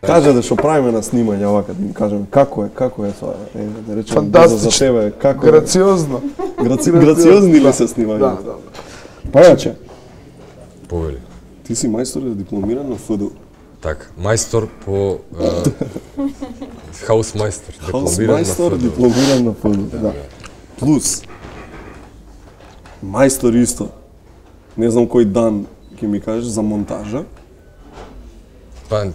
Кажете што правиме на снимање овака, да им кажеме како е тоа, да речеме фантастично, за тебе, како грациозно. Грациозни ли се снимање? Да. Пајаче, Повели. ти си мајстор и дипломиран на ФДУ. Така, мајстор по хаусмајстор, Хаусмајстор, дипломиран на ФДУ, да. Плюс мајстор исто. Не знам кој дан ќе ми кажеш за монтажа. Па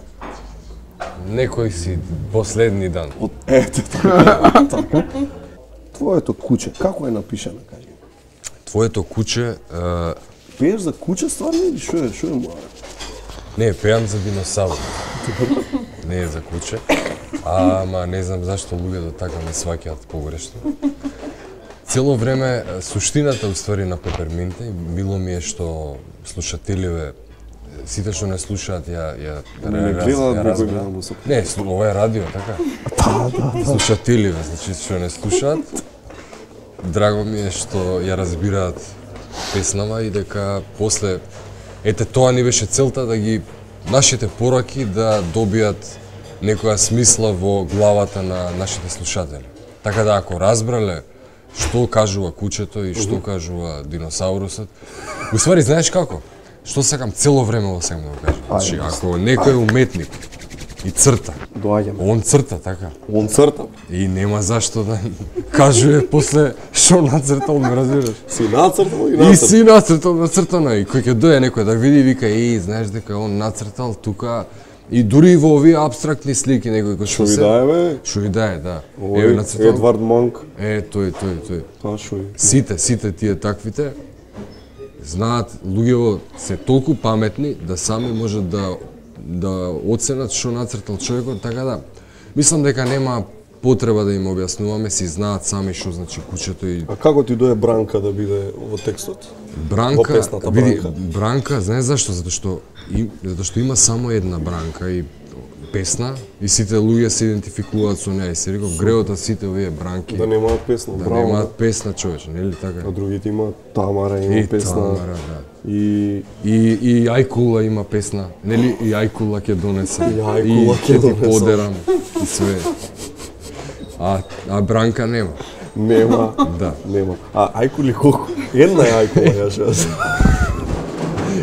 некој си последни дан. Ете така. Твоето куче, како е напишано, кажи? Твоето куче, Пееш за куче стварно или што е мора? не, пеам за диносавр. Не е за куче. Ама не знам зашто луѓето така ме сваќаат погрешно. Цело време суштината уствари на Пеперминте било ми е што слушателиве сите што не слушаат ја разбираат. Не, ова е радио, така? Да. Слушателиве, значи што не слушаат, драго ми е што ја разбираат песнава и дека после ете тоа ни беше целта да ги нашите пораки да добијат некоја смисла во главата на нашите слушатели. Така да ако разбрале што кажува кучето и што кажува диносаурусот, уствари знаеш како? Што сакам цело време во сакам да го кажам. Значи ако некој е уметник и црта, Доаѓаме. он црта, така? Он црта. И нема зашто да кажува после што нацртал, ме разбираш? Си нацртал и И нацртал. си нацртал, нацртано и кој ќе дојде некој да види, вика, знаеш дека он нацртал тука и дури и во овие апстрактни слики некој кој Што ви дае, бе? Што ви дае, да. Овој нацртал. Едвард Монк. Тој. Тоа шо е? Сите тие таквите знаат, луѓето се толку паметни да сами можат да оценат што нацртал човекот, така да мислам дека нема потреба да им објаснуваме, си знаат сами што значи кучето и А како ти дое Бранка да биде во текстот? Во Бранка, песната види, Бранка. Бранка, знаеш зашто? Затоа што има само една Бранка и песна и сите луѓе се идентификуваат со неа и се реков греото сите овие Бранки Да немаат песна, да браво. немаат песна, човече, нели така? А другите има Тамара, има И песна. Тамара, да. И Ајкула има песна, нели? И Ајкула ќе донесе. И Ајкула ќе ќе ти донесам. подерам и све. А Бранка нема. нема. Да. Нема. А Ајкули колку? Една е Ајкула, ја шо.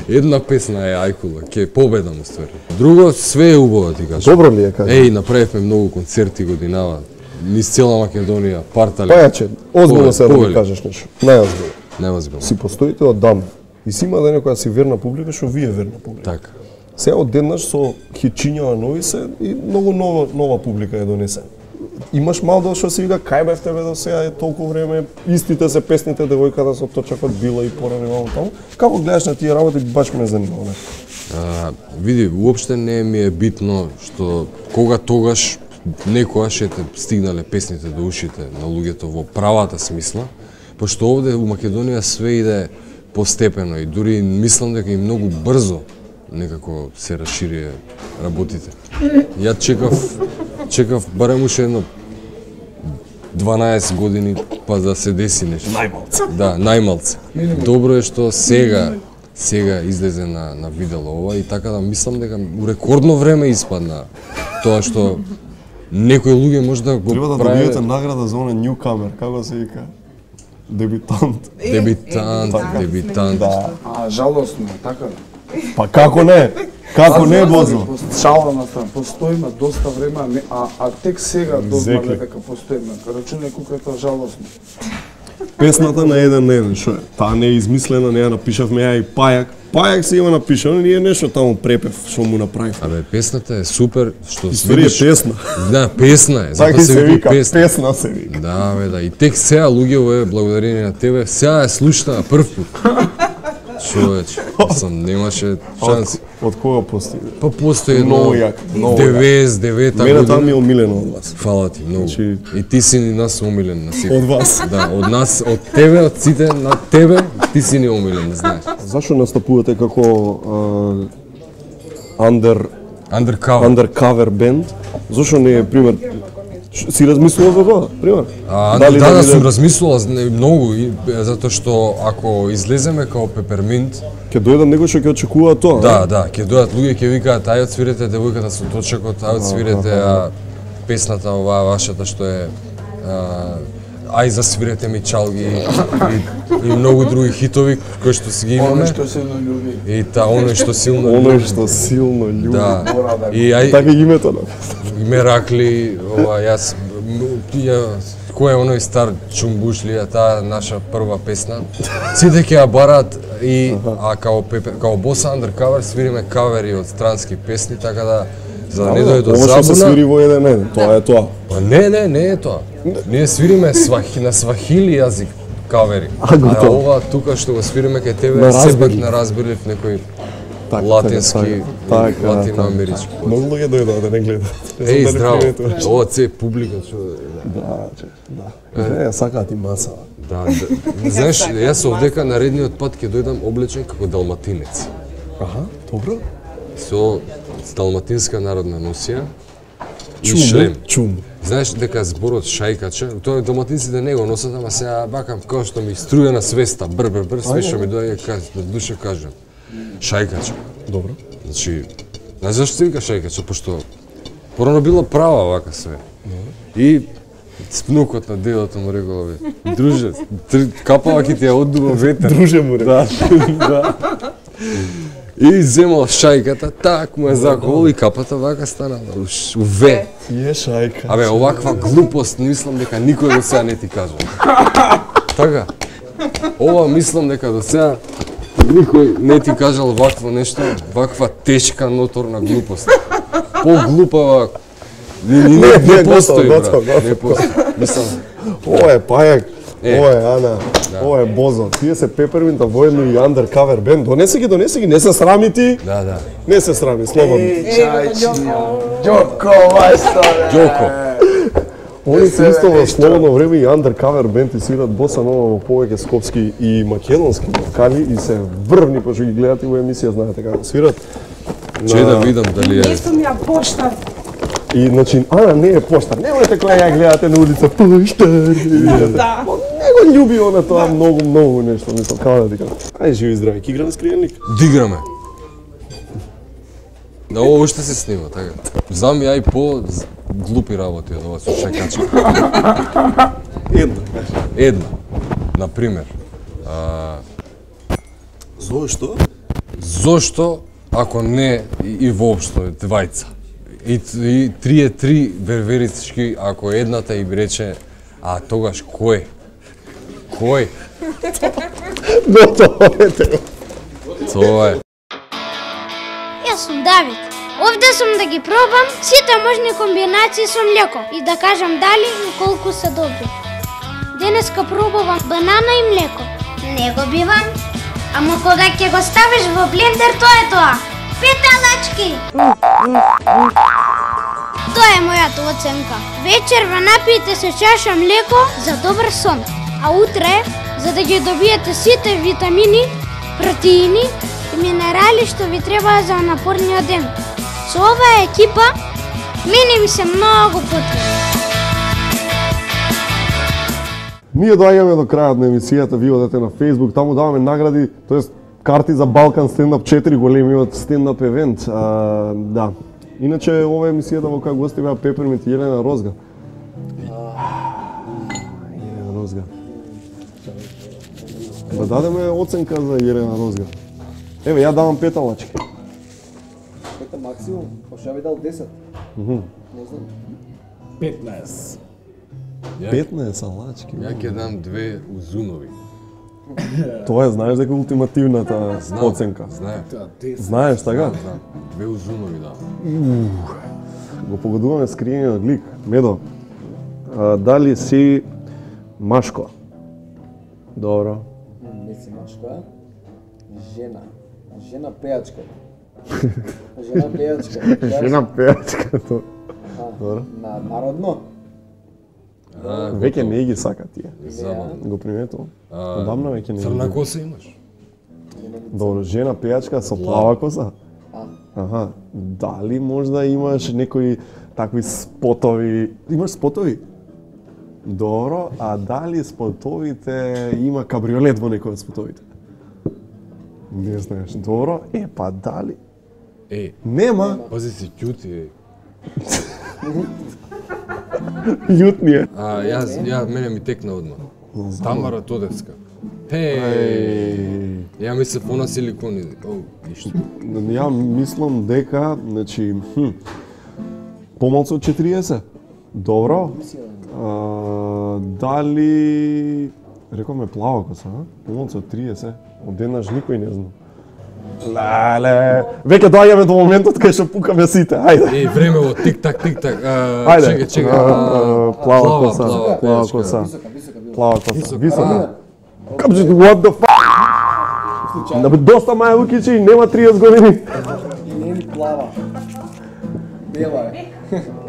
Една песна е Ајкула, ќе победам уствари. Друго све е убаво ти кажам. Добро ли е, кажи? Направивме многу концерти годинава. Низ цела Македонија, партали. Пајаче, озбилно се да ми повели. кажеш нешто. Најозбилно. Нема збилно. Си постоите од дам. И си има дене која си верна публика, што вие верна публика. Така. Сега одеднаш со хитчињава нови се и многу нова публика е донесена. Имаш мал дел што се вика кај бев тебе до сега е толку време, истите се песните девојката со точакот била и порани таму. Како гледаш на тие работи, баш ме занимава. Види, уопште не ми е битно што кога тогаш некојаш ете стигнале песните до ушите на луѓето во правата смисла, пошто овде у Македонија све иде постепено и дури мислам дека и многу брзо некако се расширија работите. Ја чекав барем уште едно 12 години па да се деси нешто. Најмалце. Да, најмалце. Добро е што сега излезе на видело ова и така да мислам дека у рекордно време испадна тоа што некои луѓе може да го Треба да праве. добиете награда за оне newcomer, како се вика? Дебитант. Дебитант. Да. А жалосно, така. Па како не? Како не, Бозо? Шала на страна, постоиме доста време, а тек сега дознавме Зекли. дека постоиме. Рачунај колку е тоа жалосно. Песната на еден, шо е? Таа не е измислена, не ја напишавме ја и Пајак. Пајак се има напишано, ние нешто таму препев што му направив. Абе, песната е супер, што Историја е песна. Да, песна е, Така затоа се вика, песна. песна се вика. Да, бе, да. И тек сега луѓе, благодарение на тебе, сега е слушна прв пат. Човече, немаше шанси. Од кога постига? Па постои едно Многу јак, многу 99-та Мене таа ми е година. омилено од вас. Фала ти многу. Значи- И ти си ни нас омилен на сите. Од вас. Да, од нас, од тебе, од сите, на тебе, ти си ни омилен, не знаеш. Зашо настапувате како Undercover. undercover бенд? Зошто не е пример Си размислувал за тоа, пример? Да, сум размислувал многу, затоа што ако излеземе као Пеперминт, ќе дојдат некој што ќе очекува тоа. Да, ќе дојдат луѓе ќе викаат ај отсвирете девојката со точекот, ај отсвирете песната оваа вашата што е ај засвирете ми чалги и многу други хитови кои што си ги имаме. Оно што силно љуби. И оно што силно љуби. Оно што силно љуби. Да. И така името на Меракли, јас кој е оној стар Чумбушлија, таа наша прва песна. Сите ќе ја барат и као Боса Undercover свириме кавери од странски песни, така да за да не дојде до забуна. Ова што се свири во еден ден, тоа е тоа. Па не е тоа. Ние свириме на свахили јазик кавери. А ова тука што го свириме кај тебе сепак на разбирлив некој латински, латиноамерички. Многу луѓе дојдоа да не гледат. Еј, здраво. Ова це публика што да. Не, сакаат и маса. Да. Знаеш, јас овдека наредниот пат ќе дојдам облечен како далматинец. Аха, добро. Со далматинска народна носија и шлем. Чум. Знаеш дека зборот шајкача, тоа далматинците не го носат, ама сега бакам како што ми струја на свеста, бр, све што ми доаѓа на душа кажам. Шајкача. Добро. Значи, знаеш зашто се вика шајкача, пошто порано била права вака све. И спнукот на дедото му рекол, друже, капава ќе ти ја оддува ветер. Друже му рекол. Да. И земал шајката, так му е заколо и капата вака станала, уве. Е шајка. Абе, оваква глупост мислам дека никој до сега не ти кажа. Така. Ова мислам дека до сега никој не ти кажал вакво нешто, ваква тешка ноторна глупост. Поглупава не постои, брат. Не постои. Мислам, ова е пајак. Ова е Ана, ова е Бозо. Тие се Пеперминта воедно и Undercover бенд. Донеси ги, не се срами ти. Да. Не се срами, слободно. Ѓоко, мајстор. Ѓоко. Они се исто во слободно време и Undercover бенд и свират боса нова во повеќе скопски и македонски вокали и се врвни пошто ги гледате во емисија, знаете како свират. Че да видам дали е. Не сум ја поштар. И значи, Ана не е поштар. Немојте кога ја гледате на улица поштар. Да. Не го љуби она тоа многу нешто, мислам, како да ти кажам. Ај живи здрави, ќе играме скријаник. Диграме. Да, ово уште се снима, така. Знам ја и по глупи работи од ова со шајкача. Една. Например. Зошто? Зошто, ако не и воопшто двајца? И три е три верверички, ако едната им рече, а тогаш кој? Кој? Готово е tego. Тоа е. Јас сум Давид. Овде сум да ги пробам сите можни комбинации со млеко и да кажам дали и колку се добри. Денеска пробувам банана и млеко. Не го бивам, ама кога ќе го ставиш во блендер, тоа е тоа. 5 талачки! Тоа е мојата оценка. Вечерва напијте се чаша млеко за добар сон, а утре, за да ги добиете сите витамини, протеини и минерали што ви требаа за напорниот ден. Со оваа екипа, мене ми се многу потребни. Ние доаѓаме до крајот на емисијата, ви одете на Facebook, таму даваме награди, тоест карти за Балкан стендап 4 големиот стендап евент. Да. Иначе ова емисијата во која гости беа Пеперминт и Елена Розга. Елена Розга. Да дадеме оценка за Елена Розга. Еве, ја давам 5 талачки. 5 максимум, пошто ја би дал 10. Не знам. 15. 15 алачки. Ја ќе дам 2 узунови. Тоа е, знаеш дека ултимативната оценка. Знаем. Знаеш, така? Знам. 2 узунови да. Го погодуваме скриениот лик. Медо, дали си машко? Добро. Не си машко, а? Жена. Жена пејачка. Жена пејачка. Жена пејачка, тоа. Добро. На народно? Веќе не ги сака тие. Забавно. Го приметувам. Одамна веќе не ги. Црна коса имаш? Добро, жена пејачка со плава коса? Аха, дали можда имаш некој такви спотови. Имаш спотови? Добро, а дали спотовите има кабриолет во некој од спотовите? Не знаеш. Добро, па дали? Нема. Пази си ќути. Јутни е. Мене ми текна одма. Тамара Тодевска. Ја мислев она силикони. Ништо. Ја мислам дека, значи, помалку од 40. Добро. Дали рековме плава коса, помалку од 30. Од денаш никој не знам. Леле, веќе доаѓаме до моментот кај што пукаме сите. Ајде. Времево тик-так, тик-так. Чекај. Плава коса. Плава коса. Висока. What the fuck? Доста Маја Лукичи, нема 30 години. И не ни плава. Бела е.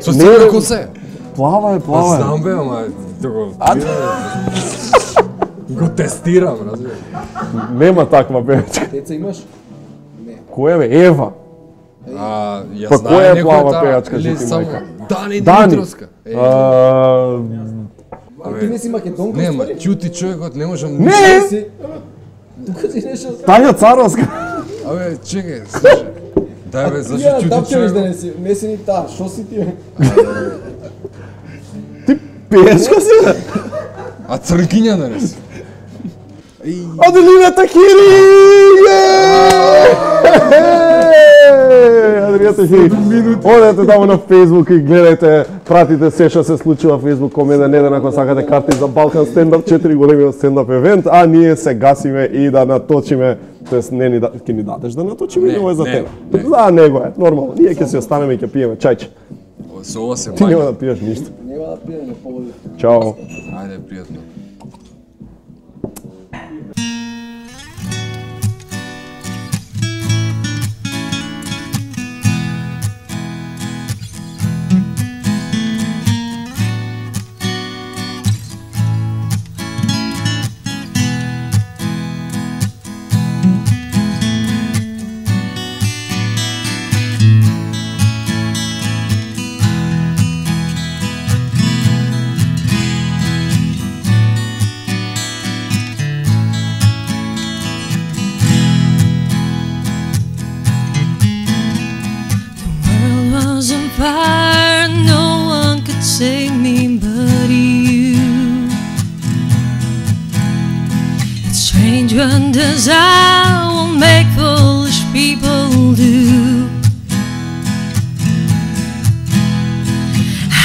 Со црна коса е. Плава е. Знам бе, ама го тестирам, разбираш. Нема таква пејачка. Деца имаш? Не. Која бе? Ева. Ја Па знае која е некој плава таа, пејачка, или ти само мајка? Дани Дани. Димитровска. Ти не си македонка, Нема, ствари? ќути човекот, не можам... Не! Си... Тука си нешто... Тања Царовска. Абе, чекај, слушај. Дај бе, зашто Ја, ќути тапчевиш да човекот? не си, не си ни таа, шо си ти? Ти пејачка си, бе? А црнкиња да не си? Аделина Такири! Аделина Такири. Одете таму на Facebook и гледајте, пратите се што се случува во Facebook комеда неден ако сакате карти за Балкан стендап 4 големи стендап евент, а ние се гасиме и да наточиме, тоест не ни ќе ни дадеш да наточиме или ова е за тебе? За него е, нормално. Ние ќе се останеме и ќе пиеме чајче. Со ова се Ти нема мања. да пиеш ништо. Нема да пиеме, не погоди. Чао. Ајде, пријатно. Fire, no one could save me but you. It's strange what desire will make foolish people do.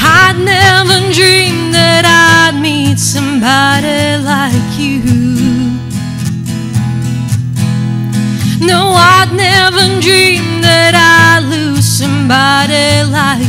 I'd never dreamed that I'd meet somebody like you. No, I'd never dreamed that I'd lose somebody like